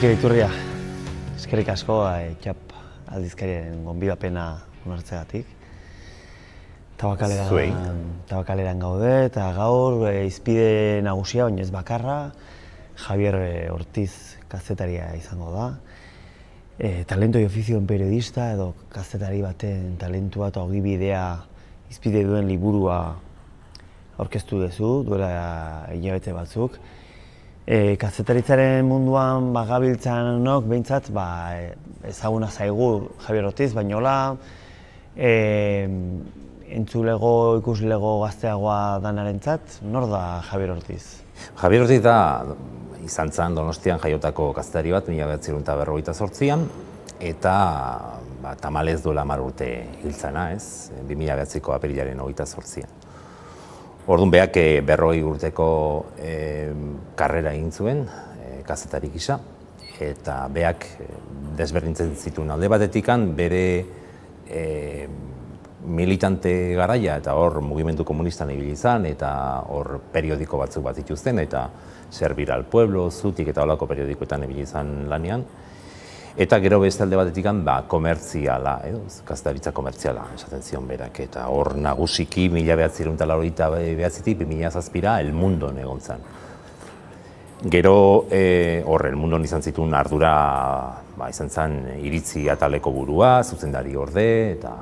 Mikel Iturria, eskerrik asko txap aldizkariaren gonbidapena onartzegatik. Tabakaleran gaude eta gaur hizpide nagusia, baina ez bakarra, Javier Ortiz kazetaria izango da. Talento y oficio en periodista edo kazetari baten talentua eta ogibidea hizpide duen liburua aurkeztu duzu, duela hilabete batzuk. Kazetaritzaren munduan gabiltzanok behintzat ezaguna zaigu Javier Ortiz, baina hola entzulego, ikuslego gazteagoa danarentzat, nor da Javier Ortiz? Javier Ortiz da izan zen Donostian jaiotako kazetari bat, 1958an, eta tamalez duela 10 urte hil zena, 2009ko apirilaren 28an. Orduan beak 40 urteko karrera egin zuen, kazetari gisa, eta beak desberdintzen zituen alde batetikan bere militante garaia eta hor mugimendu komunistan ibili izan eta hor periodiko batzuk bat dituzten eta Servir al Pueblo, Zutik eta holako periodikoetan ibili izan lanean. Eta gero beste alde batetik komertziala, kazetaritza komertziala esaten zion berak, eta hor nagusiki 1989-tik 2007ra El Mundon egon zen. Gero hor El Mundon izan zituen ardura izan zen iritzi ataleko burua, zuzendari orde eta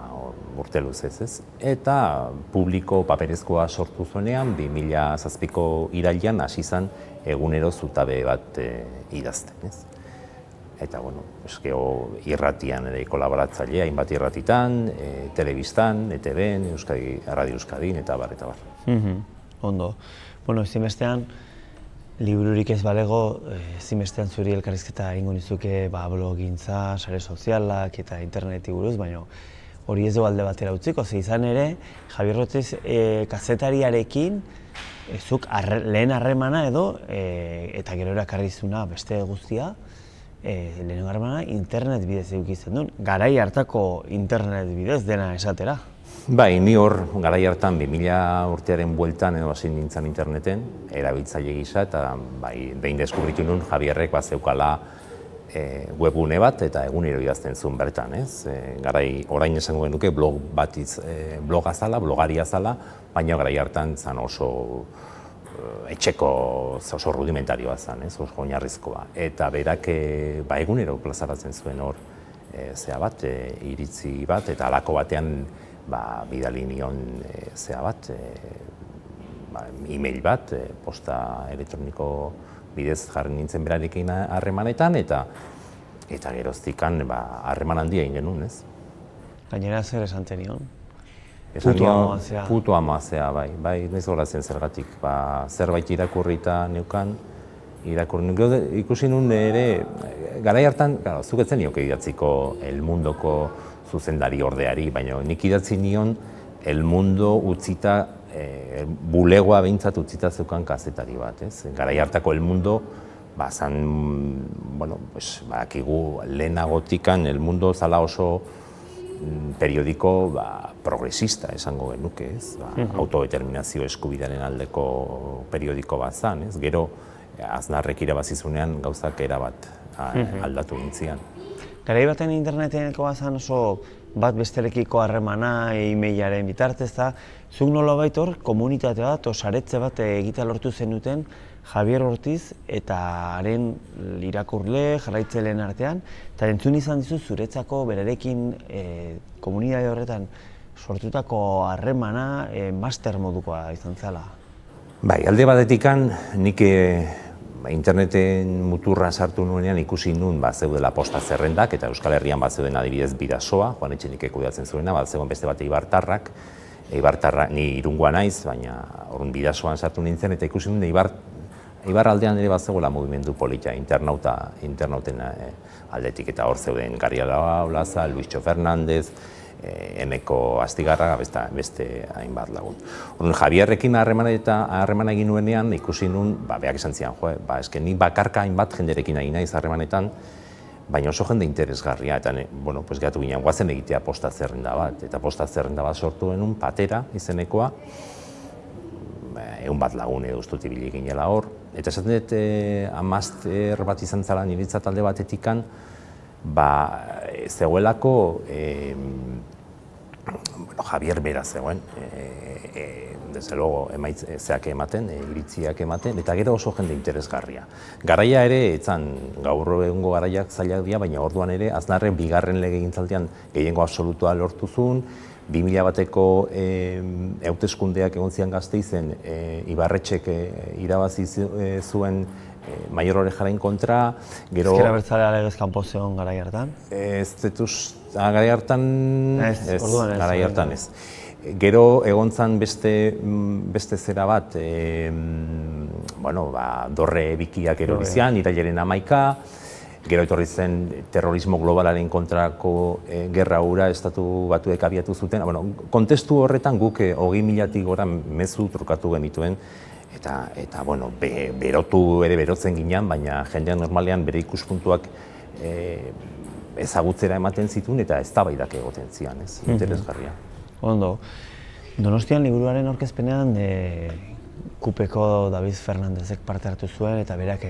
urte luzez ez. Eta publiko paperezkoa sortu zuenean 2007ko irailean hasi zen egunero zutabe bat idazten. Eta, irratian ere kolaboratzailea, hainbat irratitan, telebistan, ETV-n, Radio Euskadin, eta bar, eta bar. Ondo. Ezinbestean, libururik ez balego, ezinbestean zuri elkarrizketa egingo nizuke blogintza, sare sozialak eta interneti buruz, baina hori ez du alde batera utziko, izan ere, Javier Ortiz kazetariarekin zuk lehen harremana edo, eta gero erakarrizuna beste guztia, lehenengo harremana internet bidez edukitzen duen, garai hartako internet bidez dena esatera. Bai, ni hor garai hartan 2000 urtearen bueltan edo hasi nintzen interneten, erabiltzaile gisa, eta behin deskubritu nuen Javierrek zeukala webgune bat eta egunero idazten zuen bertan, ez? Garai orain esango genuke bloga zala, blogaria zala, baina garai hartan zan oso etxeko oso rudimentarioa zen, oso oinarrizkoa. Eta berak egunero plazaratzen zuen hor iritzi bat, eta halako batean bidali nion e-mail bat, posta elektroniko bidez jarri nintzen berarekin harremanetan, eta geroztikan harreman handia egin genuen, ez? Gainera zer esan zenion? Puto amazea, bai, ez horazen zergatik. Zerbait irakurrita neukan, ikusi nuen ere, garai hartan, zuketzen nioke idatziko El Mundoko zuzendari ordeari, baina nik idatzi nion El Mundo utzita, bulegoa behintzat utzita zeukan kazetari bat, ez? Garai hartako El Mundo, zan, badakigu lehenagotikan El Mundo zala oso periodiko progresista esango genuke, ez? Autodeterminazio eskubidearen aldeko periodiko bat zan, ez? Gero, Aznarrek irabazizunean gauzak erabat aldatu gintzian. Garai baten interneteneko bat zan oso bat besterekiko harremana, e-mailaren bitartez da, zuk nolabait hor komunitate bat, saretze bat egitea lortu zenuten Javier Ortiz eta haren irakurle, jarraitzaileen artean, eta entzun izan dizu zuretzako berarekin komunitate horretan sortutako harremana master modukoa izan zela. Bai, alde batetikan nik interneten muturra sartu nuenean ikusi nuen zeudela posta zerrendak, eta Euskal Herrian zeuden adibidez Bidasoa, Juan Etxenikek kudeatzen zuena, zegoen beste bat Eibartarrak, ni Irungoa naiz, baina orduan Bidasoan sartu nintzen, eta ikusi nuen Eibar aldean ere zegoela mugimendu polita, internauten aldetik, eta hor zeuden Garriala Olaza, Luistxo Fernandez, Emeko Astigarra, beste hainbat lagun. Javierrekin harremana egin nuenean, ikusi nuen, beak esan zian, ni bakarka hainbat jenderekin egin naiz harremanetan, baina oso jende interesgarria, eta gehatu ginen, guazen egitea posta zerrenda bat, eta posta zerrenda bat sortu genuen, Patera izenekoa, 100 lagun edo ustut ibili ginela hor, Eta esaten dut, amazter bat izan zala niretzat alde batetikan, zegoelako, Javier bera zegoen, desde luego zeak ematen, iritziak ematen, eta gero oso jende interesgarria. Garaia ere, etzan gaur egungo garaiak zailak dira, baina orduan ere, Aznarrek bigarren legegintzaldian gehiengo absolutua lortu zuen, 2000 bateko hauteskundeak egon zian Gasteizen, Ibarretxek irabazi zuen Maior Orejaren kontra, gero... Ezker Abertzalea legez kanpo zegoen garai hartan? Garai hartan ez. Gero egon zan beste zera bat, dorre bikiak erori zian, irailaren 11, gero etorri zen terrorismo globalaren kontrako gerra hura estatu batuek abiatu zuten. Kontestu horretan guk 20.000-tik gora mezu trukatu genituen, eta berotu ere berotzen ginean, baina jendean normalean bere ikuspuntuak ezagutzera ematen zituen eta eztabaidak egoten zian, ez, interesgarria. Ondo, Donostian liburuaren aurkezpenean Kupeko David Fernandezek parte hartu zuen eta berak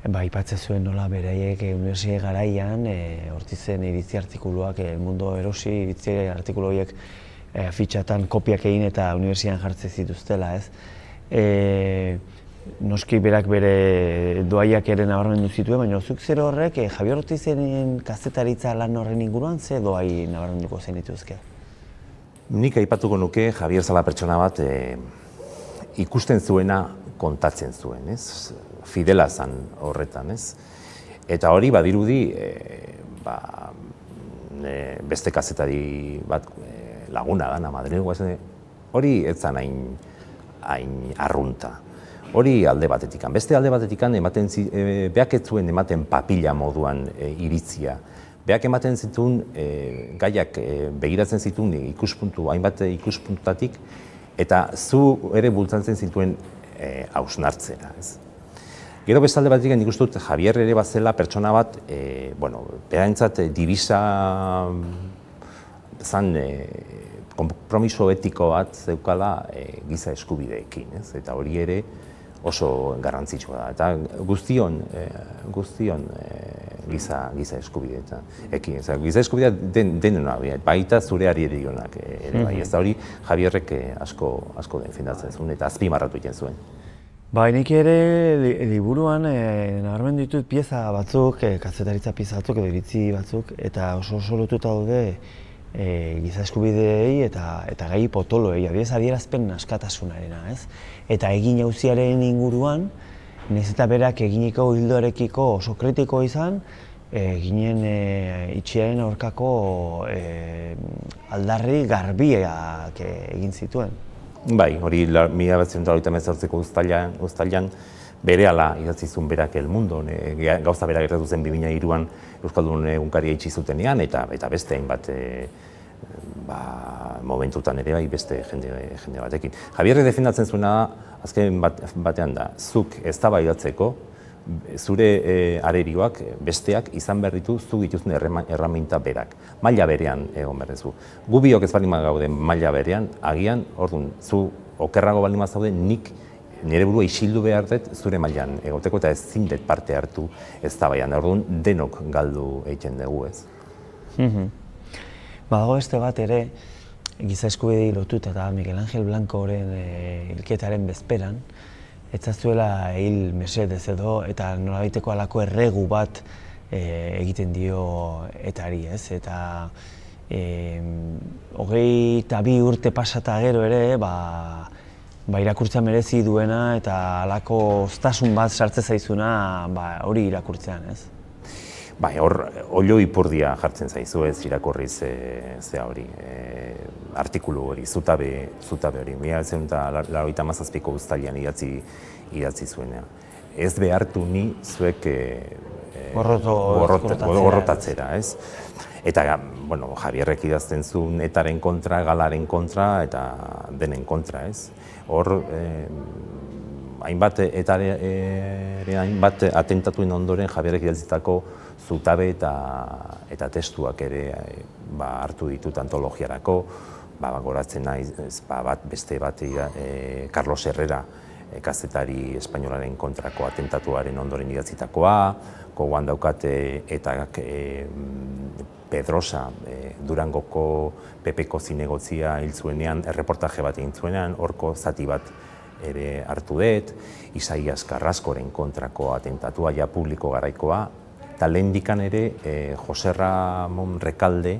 aipatzen zuen nola beraiek unibertsitate garaian hortizen iritzi artikuluak, El Mundo erosi iritzi artikulu horiek afitxatan kopiak egin eta unibertsitatean jartzen zituztela, ez? Noski berak bere doaiak ere nabarmendu zituen, baina zuk zer horrek Javier Ortizenen kazetaritza lan horren inguruan ze doai nabarmenduko zen dituzke? Nik aipatuko nuke Javier zala pertsona bat ikusten zuena kontatzen zuen, ez? Fidela zan horretan, ez? Eta hori badirudi beste kazetari bat laguna dana Madrilgo, hori ez zan hain arrunta. Hori alde batetikan. Beste alde batetikan beak ez zuen ematen papila moduan iritzia. Beak ematen zituen gaiak begiratzen zituen hainbat ikuspuntutatik eta zu ere bultzatzen zituen hausnartzea. Gero beste alde batetikan nik uste dut Javier ere bazela pertsona bat, berantzat divisa zan konpromiso etiko bat zeukala giza eskubideekin, eta hori ere oso garrantzitsua da. Eta guztion giza eskubideekin. Giza eskubidea denena, baita zure arierionak ere bai. Ez da hori Javierrek asko defendatzen zuen eta azpimarratu egiten zuen. Nik ere liburuan nabarmendu ditut pieza batzuk, kazetaritza pieza batzuk edo iritzi batzuk, eta oso lotuta daude giza eskubideei eta gai potoloei, adierazpen askatasunarena, ez? Eta egin auziaren inguruan, nahiz eta berak eginiko hildoarekiko oso kritiko izan, ginen itxiaren aurkako aldarri garbiak egin zituen. Bai, hori 1988ko uztailean berehala idatzi zuen berak El Mundo, gauza berak gertatu zen 2003an Euskaldun egunkaria itxi zutenean eta beste hainbat momentutan ere bai beste jende batekin. Javierrek defendatzen zuena azken batean da, zuk eztabaidatzeko zure arerioak besteak izan behar ditu zuk dituzten erraminta berak. Maila berean egon behar duzu. Gu biok ez baldin gaude maila berean, agian, orduan, zu okerrago baldin zaude, nik nire burua isildu behar dut zure mailan egoteko eta ezin dut parte hartu eztabaidan. Orduan, denok galdu egiten dugu, ez. Badago beste bat ere, giza eskubidei lotuta eta Miguel Ángel Blancoren hilketaren bezperan, etzazuela hil mesedez edo eta nolabaiteko halako erregu bat egiten dio etari, ez? Eta 22 urte pasata gero ere, irakurtzea merezi duena eta halako oztasun bat sartzen zaizuna hori irakurtzean, ez? Hor, olio ipurdia jartzen zaizu ez irakurriz zea hori, artikulu hori, zutabe hori. 1987ko uztailean idatzi zuenean. Ez behartu ni zuek gorrotatzera, ez? Eta, Javierrek idazten zuen etaren kontra, galaren kontra eta denen kontra, ez? Hor, hainbat atentatuen ondoren Javierrek idatzitako zutabe eta testuak ere hartu ditut antologiarako, goratzen naiz beste bat Carlos Herrera kazetari espainolaren kontrako atentatuaren ondoren idatzitakoa, gogoan daukate eta Pedrosa, Durangoko PP-ko zinegotzia hil zuenean, erreportaje bat egin zuenean, horko zati bat ere hartu dut, Isaias Carrascoren kontrako atentatua ja publiko garaikoa, eta lehendikan ere Jose Ramon Recalde,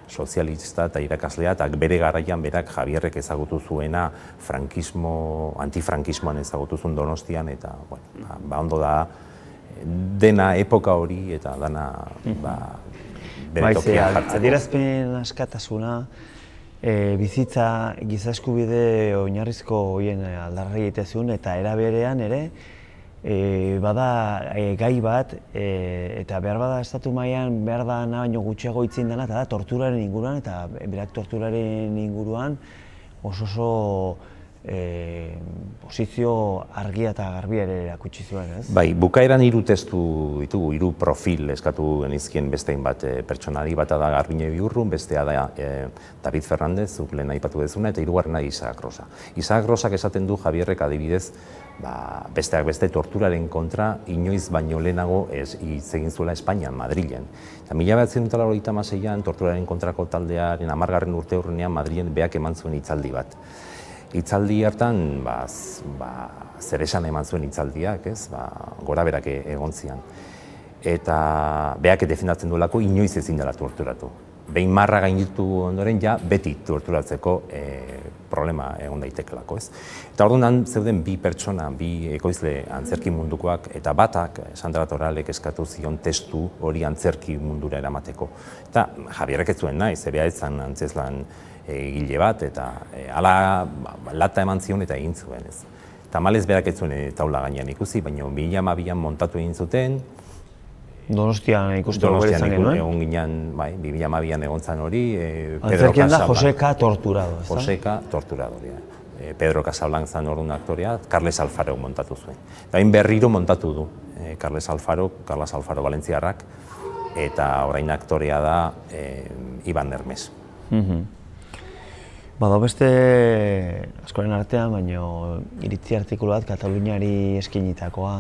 sozialista eta irakaslea, eta bere garaian berak Javierrek ezagutu zuena antifrankismoan ezagutu zuen Donostian, eta ondo da dena epoka hori eta dana bere tokian jartzeko. Adierazpen askatasuna, bizitza giza eskubide oinarrizko horien aldarri egitezun, eta era berean ere, bada gai bat, eta behar bada estatu mailan behar da baino gutxiago hitzin dena, eta da torturaren inguruan, eta berak torturaren inguruan oso posizio argia eta garbia ere erakutsi zuen, ez? Bai, bukaeran 3 testu ditugu, 3 profil eskatu genizkien beste hainbat pertsonari, bata da Garbine Biurrun, bestea da David Fernández, zuk lehen aipatu dezuna, eta hirugarrena Isaac Rosa. Isaac Rosak esaten du Javierrek adibidez, besteak beste torturaren kontra inoiz baino lehenago hitz egin zuela Espainian, Madrilen. Eta 1986an torturaren kontrako taldearen 10. urteurrenean Madrilen beak eman zuen hitzaldi bat. Hitzaldi hartan, zer esan eman zuen hitzaldiak, gora berak egon zian. Eta beak defendatzen duelako inoiz ezin dela torturatu. Behin marra gainditu ondoren, ja beti torturatzeko problema egon daitekelako, ez? Eta orduan zeuden 2 pertsona, 2 ekoizle antzerki mundukoak, eta batak, Sandra Torralek eskatu zion testu hori antzerki mundura eramateko. Eta Javierrek ez zuen nahi, zebea ezan antzezlan egile bat, eta hala lata eman zion eta egin zuen, ez. Tamalez berak ez zuen taula gainean ikusi, baina 2012an montatu egin zuten. Donostian ikusteko bere izan genuen? Egon ginen, bai, 2012an egon zan hori. Antzerkian da Joseka Torturado, ez da? Joseka Torturado, Pedro Casablanc zan orduan aktorea, Carles Alfaro montatu zuen. Eta hain berriro montatu du Carles Alfaro Valentziarrak, eta orain aktorea da Iban Hermes. Bada beste askoren artean, baina iritzi artikulu bat Kataluniari eskinitakoa.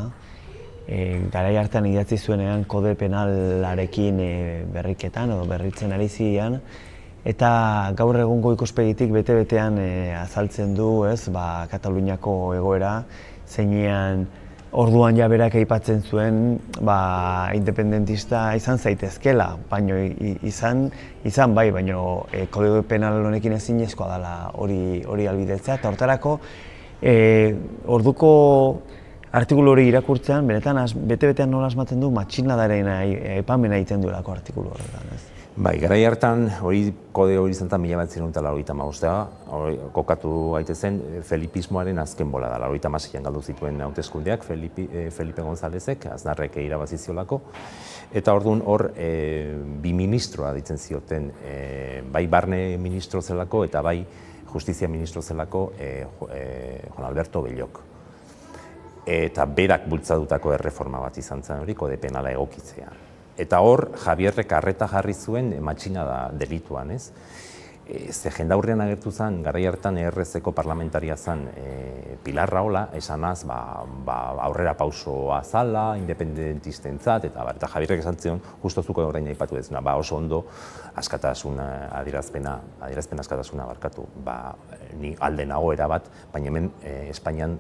Garai hartan idatzi zuenean kode penalarekin berriketan edo berritzen ari ziren, eta gaur egungo ikuspegitik bete-betean azaltzen du, Kataluniako egoera, zeinean orduan ja berak aipatzen zuen independentista izan zaitezkela, baina izan bai, baina kode penal honekin ezinezkoa dela hori albidetzea, eta hortarako orduko artikulu hori irakurtzean, benetan bete-betean nola asmatzen du matxinadaren aipamena egiten duelako artikulu horretan, ez? Bai, garai hartan kode hori zentan 1985, kokatu gaitezen felipismoaren azken bola da. 86an galdu zituen hauteskundeak Felipe Gonzálezek, Aznarrek irabaziziolako, eta orduan hor 2 ministroa ditzen zioten, bai barne ministro zelako eta bai justizia ministro zelako Juan Alberto Bellok. Eta berak bultzadutako erreforma bat izan zen hori, kode penala egokitzea. Eta hor, Javierrek arreta jarri zuen matxinada delituan, ez? Ze jendaurrean agertu zen, garai hartan ERZ-eko parlamentaria zen Pilar Rahola, esanaz aurrera pausoa zala, independentistentzat, eta Javierrek esan zion, justo zuko orain aipatu dezuna, oso ondo askatasuna, adierazpen askatasuna barkatu, ni alde nago erabat, baina hemen Espainian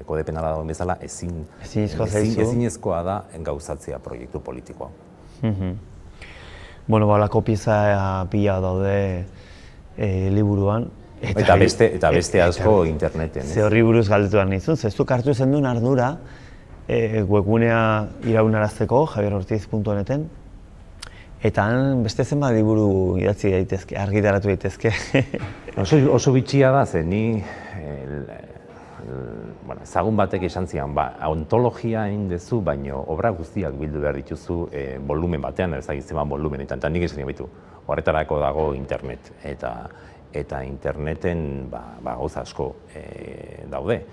kode penala dagoen bezala ezinezkoa da gauzatzea proiektu politikoa. Bueno, balako pieza pila daude liburuan. Eta beste asko interneten. Ze horri buruz galdetu behar nizun, zezuk hartu zen duen ardura webgunea iraunarazteko, javierortiz.neten, eta beste zenbat liburu idatzi daitezke, argitaratu daitezke. Oso bitxia da, ze ni ezagun batek esan zian, ontologia egin dezu, baina obra guztiak bildu behar dituzu volumen batean, ezagitzen volumen, eta nik esan baitu, horretarako dago internet, eta interneten gauza asko daude.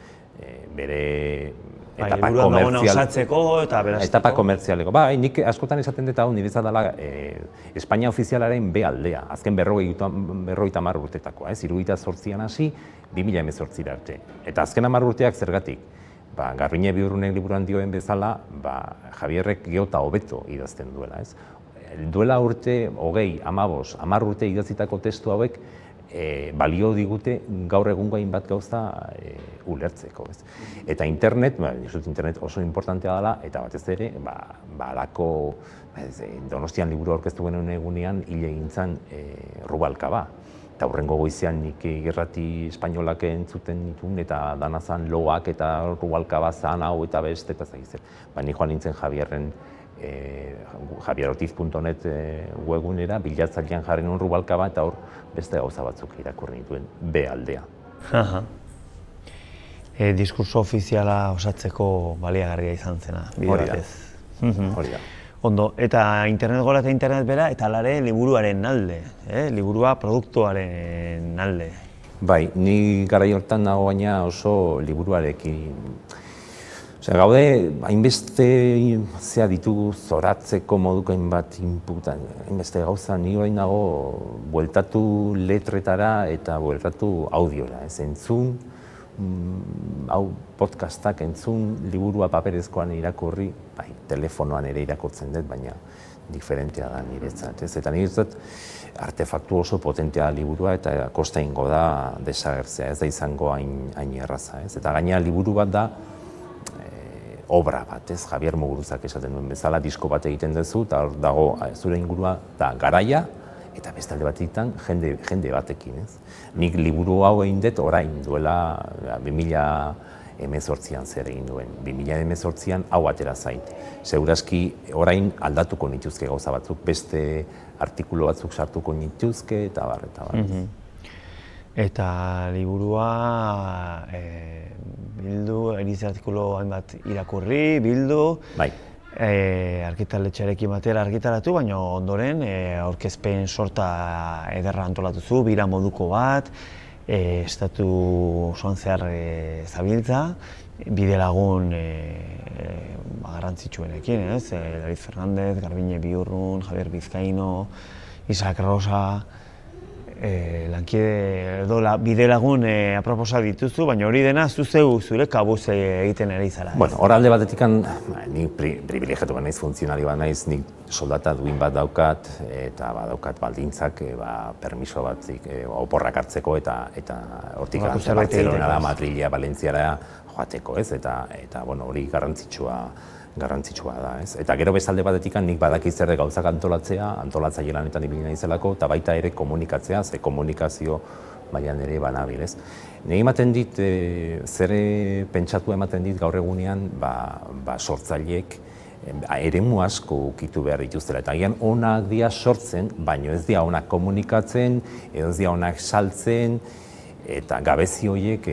bere etapa komertzialeko. Bai, nik askotan esaten dut hau niretzat dela Espainia ofizialaren B aldea, azken 50 urtetakoa, 78an hasi, 2018 arte. Eta azken 10 urteak zergatik? Garbiñe Biurrunek liburuan dioen bezala, Javierrek gero eta hobeto idazten duela. Duela urte, 20, 15, 10 urte idatzitako testu hauek balio digute gaur egungo hainbat gauza ulertzeko. Eta internet oso importantea dela, eta batez ere, halako Donostian liburu aurkeztu genuen egunean hil egin zen Rubalcaba. Eta hurrengo goizean nik irrati espainolak entzuten nituen, eta danazan loak eta Rubalcaba zan hau eta beste, eta zagizen. Nik joan nintzen Javierren javierortiz.net webgunera, bilatzailean jarri nuen Rubalcaba, eta hor beste gauza batzuk irakurri nituen B aldea. Diskurso ofiziala osatzeko baliagarria izan zena, bide batez. Hori da. Ondo, eta internet gora eta internet bera, eta alare liburuaren alde, liburua produktuaren alde. Bai, ni garai hortan nago baina oso liburuarekin. Gaude, hainbeste ditugu zoratzeko moduko hainbat inputan, hainbeste gauza, ni orain nago bueltatu letretara eta bueltatu audiora. Entzun, podcastak entzun, liburua paperezkoan irakurri, telefonoan ere irakurtzen dut, baina diferentea da niretzat. Eta niretzat artefaktu oso potentea liburua eta kosta ingo da desagertzea, ez da izango hain erraza. Eta gainera liburu bat da, obra bat, Javier Muguruzak esaten duen bezala, disko bat egiten duzu, eta hor dago zure ingurua da garaia, eta bestalde batetan jende batekin. Nik liburu hau egin dut orain duela 2018an zer egin duen. 2018an hau atera zain. Segurazki orain aldatuko nituzke gauza batzuk, beste artikulu batzuk sartuko nituzke, eta bar. Eta liburua bildu, eriz artikulu hainbat irakurri, bildu, argitaletxearekin batera argitaratu, baina ondoren aurkezpen sorta ederra antolatu zu, bira moduko bat, estatu osoan zehar zabiltza, bide lagun garrantzitsuenekin, David Fernández, Garbiñe Biurrun, Javier Vizcaino, Isaac Rosa, lankide edo bide lagun aproposa dituzu, baina hori dena zure kabuz egiten ari zara. Hor alde batetik, ni privilegiatu bat naiz, funtzionari bat naiz, nik soldata duin bat daukat, eta badaukat baldintzak, permiso batzik, oporrak hartzeko, eta hortik Barcelonara, Madrilea, Valentziara joateko, eta hori garrantzitsua da. Eta gero bezalde batetik nik badaki zer gauzak antolatzaile lanetan ibili naizelako, eta baita ere komunikatzea, ze komunikazio mailan ere banabil. Nire ematen dit, zer pentsatu ematen dit gaur egunean, sortzaileek eremu asko ukitu behar dituztela. Eta agian onak dira sortzen, baina ez dira onak komunikatzen, ez dira onak saltzen, eta gabezi horiek,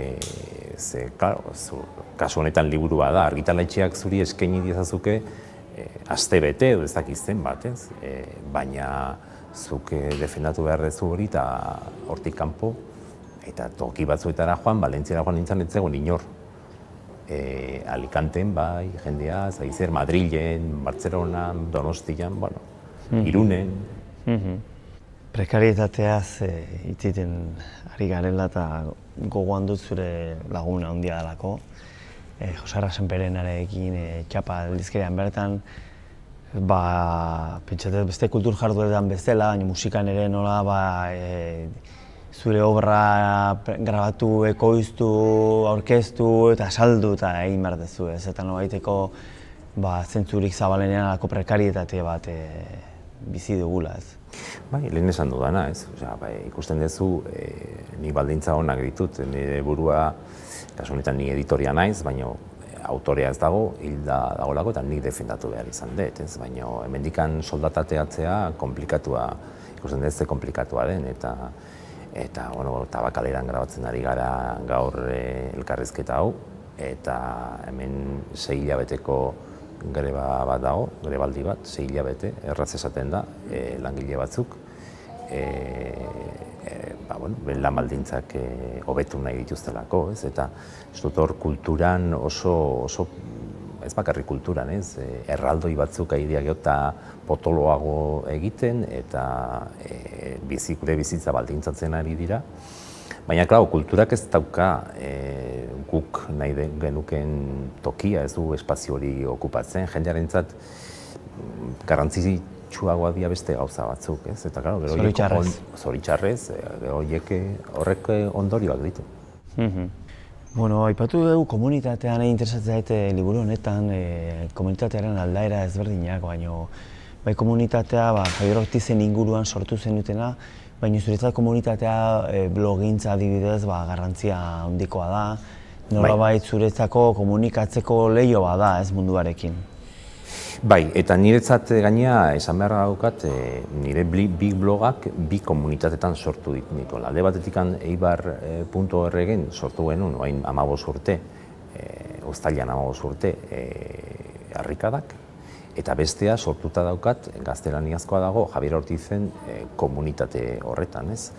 kasu honetan liburua da, argitaletxeak zuri eskaini diezazuke aste bete edo ez dakizten bat, baina zuk defendatu behar dezu hori eta hortik kanpo, eta toki batzuetara joan, Valentziara joan nintzen ez zegoen inor. Alicanten, bai, jendea, zaizer, Madrilen, Bartzelonan, Donostian, Irunen. Prekarietateaz hitziten ari garela eta gogoan dut zure laguna handia delako. Josarra Senperenarekin txapa aldizkarian bertan, pentsatzen beste kultur jardueretan bezala, baina musikan ere nola zure obra grabatu, ekoiztu, aurkeztu eta saldu eta egin behar dezu, eta nobaiteko zentzurik zabalenean alako prekarietate bat bizi dugula. Lehen esan dudana, ikusten duzu, nik baldintza honak ditut, nire burua, kasu honetan ni editoria naiz, baina autorea ez dago, hilda dagolako eta nik defendatu behar izan dut, baina hemendikan soldatateatzea komplikatua, ikusten dut ze komplikatua den, eta tabakaleran grabatzen ari gara gaur elkarrizketa hau, eta hemen 6 hilabeteko greba bat dago, grebaldi bat, 6 hilabete, erraz esaten da, langile batzuk, lan baldintzak hobetu nahi dituztelako, ez? Eta ez dut hor kulturan oso ez bakarrik kulturan, ez? Erraldoi batzuk ari eta potoloago egiten eta gure bizitza baldintzatzen ari dira. Baina, klar, kulturak ez dauka guk nahi genuken tokia, ez du espazio hori okupatzen, jendearentzat garrantzitsuagoa dira beste gauza batzuk, ez? Eta, klar, zoritxarrez, horrek ondorioak ditu. Bueno, aipatu dugu komunitatean interesatzen zaite liburu honetan, komunitatearen aldaera ezberdinak, baina bai komunitatea Javier Ortizen inguruan sortu zenutena, baina zuretzat komunitatea blogintza adibidez garrantzia handikoa da, nolabait zuretzako komunikatzeko leiho da ez munduarekin. Bai, eta niretzat gainea esan behar daukat, nire bi blogak bi komunitatetan sortu ditu. Alde batetik eibar.org-en sortu genuen, oain 15 urte, uztailean 15 urte, harrikadak, eta bestea sortuta daukat, gaztelaniazkoa dago, Javier Ortizen komunitate horretan, ez?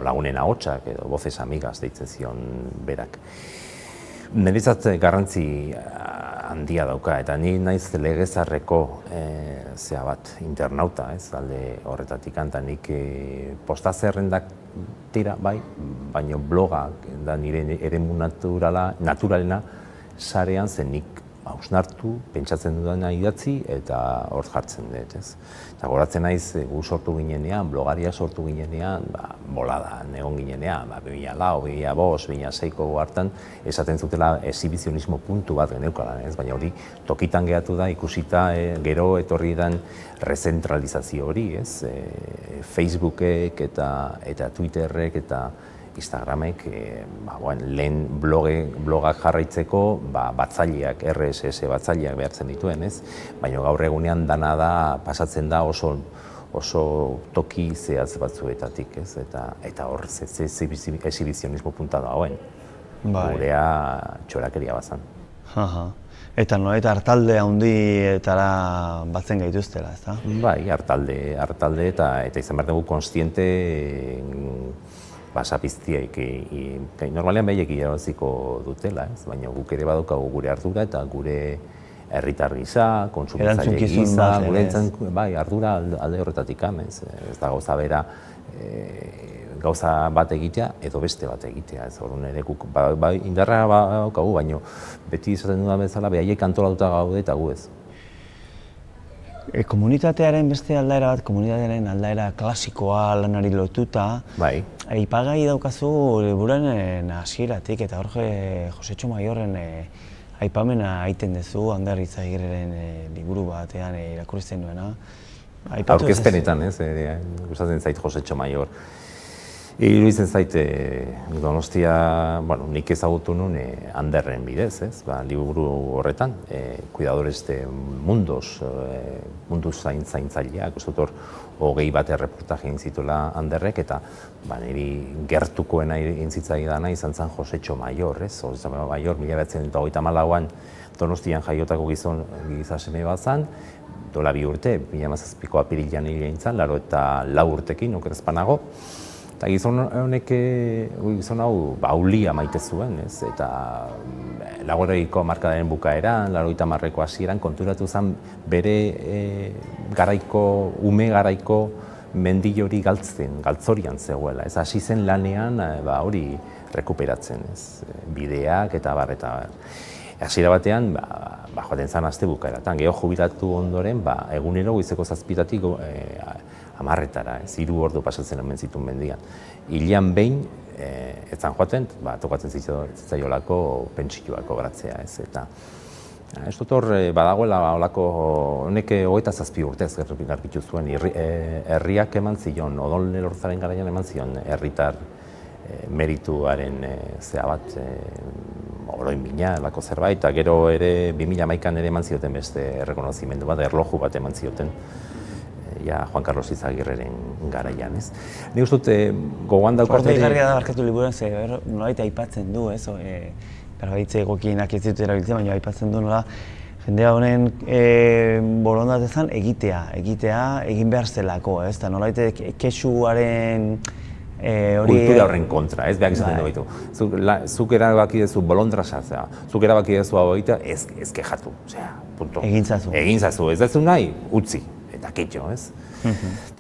Lagunen ahotsak edo voces amigas deitzen zion berak. Niretzat garrantzi handia dauka, eta ni naiz legezarreko internauta, ez, alde horretatik, eta nik postazerrendak tira, bai, baina blogak da nire eremu naturalena sarean zen nik hausnartu, pentsatzen dudana idatzi eta hor jartzen dut, ez. Eta goratzen naiz, gu sortu ginenean, blogaria sortu ginenean, boladan egon ginenean, 2004, 2005, 2006ko hartan, esaten zutela exhibizionismo puntu bat geneukala, ez, baina hori tokitan gehatu da, ikusita gero etorri dan rezentralizazio hori, ez, Facebookek eta Twitterrek eta Instagramek lehen blogak jarraitzeko batzaileak, RSS batzaileak behartzen dituen, ez? Baina gaur egunean dana da, pasatzen da oso toki zehatz batzuetatik, ez? Eta hor exhibizionismo punta dagoen. Gurea txorakeria bazan. Eta nolabait artalde handietara batzen gaituztela, ezta? Bai, artalde eta izan behar dugu konstiente basapiztiaik, normalean behiek irabaziko dutela, baina guk ere badaukagu gure ardura eta gure herritar gisa, kontsumitzaile gisa, bai, ardura alde horretatik ez da gauza bera gauza bat egitea edo beste bat egitea, ez horren ere guk indarra badaukagu, baina beti izaten dudan bezala behaiek antolatuta gaude eta gu ez. Komunitatearen beste aldaera bat, komunitatearen aldaera klasikoa lanari lotuta, aipagai daukazu liburuaren hasieratik eta hor Josetxo Maiorren aipamena egiten duzu, Ander Itzagirreren liburu batean irakurtzen duena. Aurkezpenetan, ez, gustatzen zait Josetxo Maior. Iruditzen zait Donostia, nik ezagutu nuen Anderren bidez, ez, liburu horretan, Cuidadores de Mundos, mundu zaintzaileak, ez dut hor 20 bat erreportaje egin zituela Anderrek, eta niri gertukoena egin zitzaidana izan zen Josetxo Maior, ez, Josetxo Maior 1934an Donostian jaiotako gizaseme bat zen, dola 2 urte, 2017ko apirilean hil egin zen, 84 urtekin, okerezpanago. Eta gizon hau aulia maite zuen, eta lagoreiko hamarkadaren bukaeran, 80ko hasieran konturatu zen bere ume garaiko mendilori galtzorian zegoela. Ez hasi zen lanean hori rekuperatzen, bideak eta bar. Hasiera batean, joaten zen aste bukaeratan, geho jubilatu ondoren, egunero goizeko 7-tik 10-etara, 3 ordu pasatzen hemen zituen mendian. Hilean behin, ez zan joaten, tokatzen zitzaiolako pentsioak kobratzea, ez. Eta ez dut hor badagoela olako, honek 27 urtez garbitu zuen, herriak eman zion, Odol Elorzaren garaian eman zion, herritar merituaren zea bat, oroin bina, lako zerbait, eta gero ere 2011an ere eman zioten beste errekonozimendu bat, erloju bat eman zioten, Juan Carlos Izagirreren garaian, ez. Nik uste dut gogoan daukateri... Igarria da barkatu liburuan, nolabait aipatzen du, ez, berbaitze egokienak ez ditut erabiltzen, baina aipatzen du nola Jendea honen borondatezan egitea, egin behar zelako, ez? Eta nolabait kexuaren kultura horren kontra, ez behar izaten dugu. Zuk erabaki duzu bolondrasa, zuk erabaki duzu hau egitea, ez kejatu, punto. Egintzazu, ez duzu nahi, utzi, eta ketxo, ez?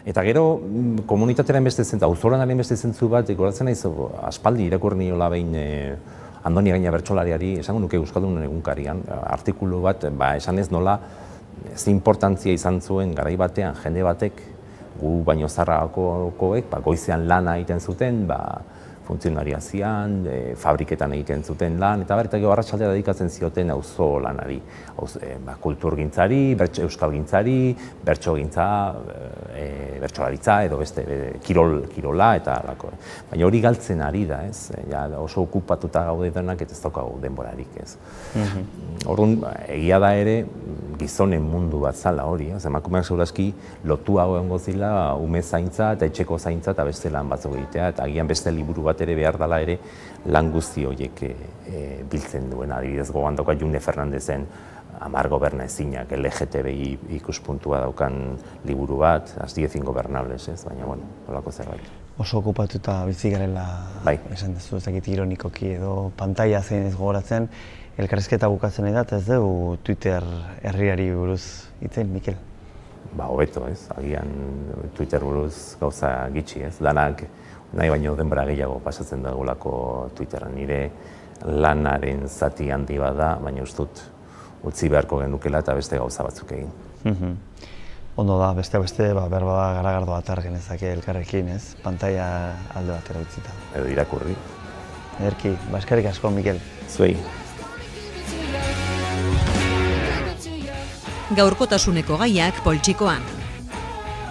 Eta gero, komunitatearen beste zentzu, auzolanaren beste zentzu bat, ikoratzen nahi aspaldi irakurri niola behin Andoni Gaina bertsolariari, esango nuke Euskaldunen egunkarian, artikulu bat, esan ez nola, ez importantzia izan zuen garai batean, jende batek, gu baino zarrakoek, goizean lana egiten zuten, funtzionaria zian, fabriketan egiten zuten lan, eta gero arratsaldera dedikatzen zioten auzo lanari, kulturgintzari, euskalgintzari, bertsogintza, bertsolaritza edo beste kirola eta alako. Baina hori galtzen ari da, ez? Oso okupatuta gaude denak eta ez daukagu denborarik, ez? Orduan, egia da ere, gizonen mundu bat zala hori, emakumeak segurazki lotuago egongo zila ume zaintza eta etxeko zaintza eta beste lan batzuk egitea, eta agian beste liburu bat ere behar dela ere lan guzti horiek biltzen duena. Adibidez gogoan dauka June Fernandezen Amar gobernaezinak, LGTBI ikuspuntua daukan liburu bat, As 10 Ingobernables, ez? Baina, bueno, holako zerbait. Oso okupatuta bizi garela, esan duzu, ez dakit ironikoki edo pantaila zein ez gogoratzen, elkarrizketa bukatzen nahi da, ez dugu Twitter herriari buruz hitzein, Mikel? Hobeto, ez? Agian Twitter buruz gauza gitxi, ez? Lanak nahi baino denbora gehiago pasatzen dagulako Twitteran. Nire lanaren zati handi bada, baina ustut utzi beharko genukela eta beste gauza batzuk egin. Ondo da, beste behar bada garagardo atar genezake elkarrekin, ez? Pantaila alde batera utzita. Edo irakurri. Ederki, eskerrik asko, Mikel. Zuei. Gaurkotasuneko gaiak poltsikoan.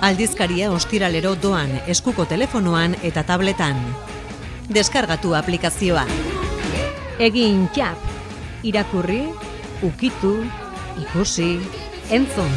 Aldizkaria ostiralero doan eskuko telefonoan eta tabletan. Deskargatu aplikazioa. Egin txap, irakurri, ukitu, ikusi, entzun.